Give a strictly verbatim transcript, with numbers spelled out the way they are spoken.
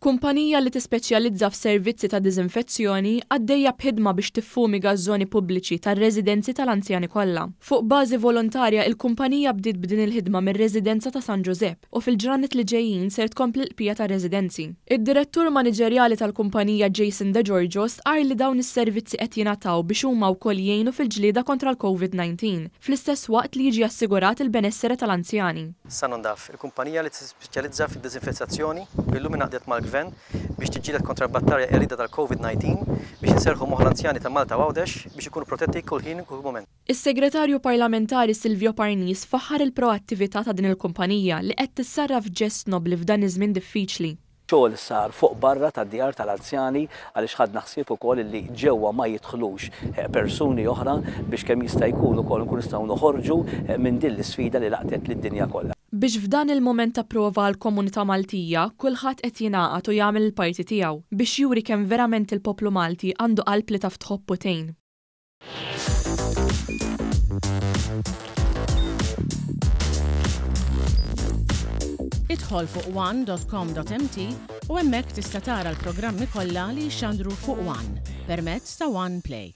Kumpanija li tispeċjalizza f'servizzi ta' diżinfezzjoni għaddejja b'ħidma biex tiffumiga ż-żoni pubbliċi tar-residenzi tal-anzjani kollha. Fuq bażi volontarja, il-kumpanija bdiet b'din il-ħidma mir-residenza ta' San Ġużepp u fil-ġranet li ġejjin ser tkompli l-bqija tar-residenzi. Id-direttur maniġerjali tal-kumpanija, Jason De Giorgio, stqarr li dawn is-servizzi qed jingħataw biex huma wkoll jgħinu fil-ġlieda kontra l-Covid nineteen, fl-istess waqt li jiġi assigurat il-benessere tal-anzjani. Sanondaf, il-kumpanija li tispeċjalizza fid-diżinfezzjoni, illum ingħaqdet mal-gvern biex tiġġieled kontra l-battalja qerrieda tal-Covid nineteen biex inserħu moħħ l-anzjani ta' Malta u Għawdex biex ikunu protetti kull ħin u kull moment. Is-segretarju parlamentari Silvio Parnis faħħar il-proattività ta' din il-kumpanija li qed tissarraf ġest nobli f'dan iż-żmien diffiċli. Xogħol sar fuq barra tad-djar tal-anzjani għaliex ħadna ħsieb ukoll li ġewwa ma jidħlux eh, persuni oħra biex kemm jista' jkun ukoll nkun nistgħu noħorġu eh, minn din l-isfida li laqtet lid-dinja kollha. Biex f'dan il-moment ta' prova għal komunità Maltija, kulħadd qed jingħaqad u jagħmel il-parti tiegħu biex juri kemm verament il-poplu Malti għandu qalb li taf tħobb u tgħin. Idħol fuq one dot com dot M T u hemmhekk tista' tara l-programmi kollha li jxandru fuq One permezz ta' One Play.